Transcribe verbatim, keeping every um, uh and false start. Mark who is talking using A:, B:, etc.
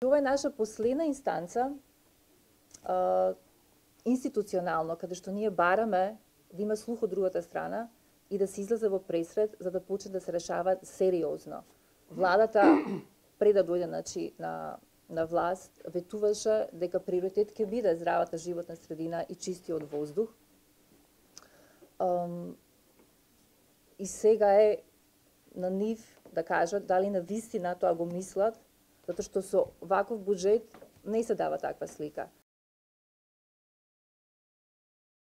A: тоа е наша последна инстанца а, институционално, каде што ние бараме да има слух од другата страна и да се излезе во пресред за да почне да се решава сериозно. Владата пред да дојде значи, на на власт ветуваше дека приоритет ќе биде здравата животна средина и чистиот воздух. Um, и сега е на нив да кажат дали на вистина тоа го мислат, затоа што со ваков буџет не се дава таква слика.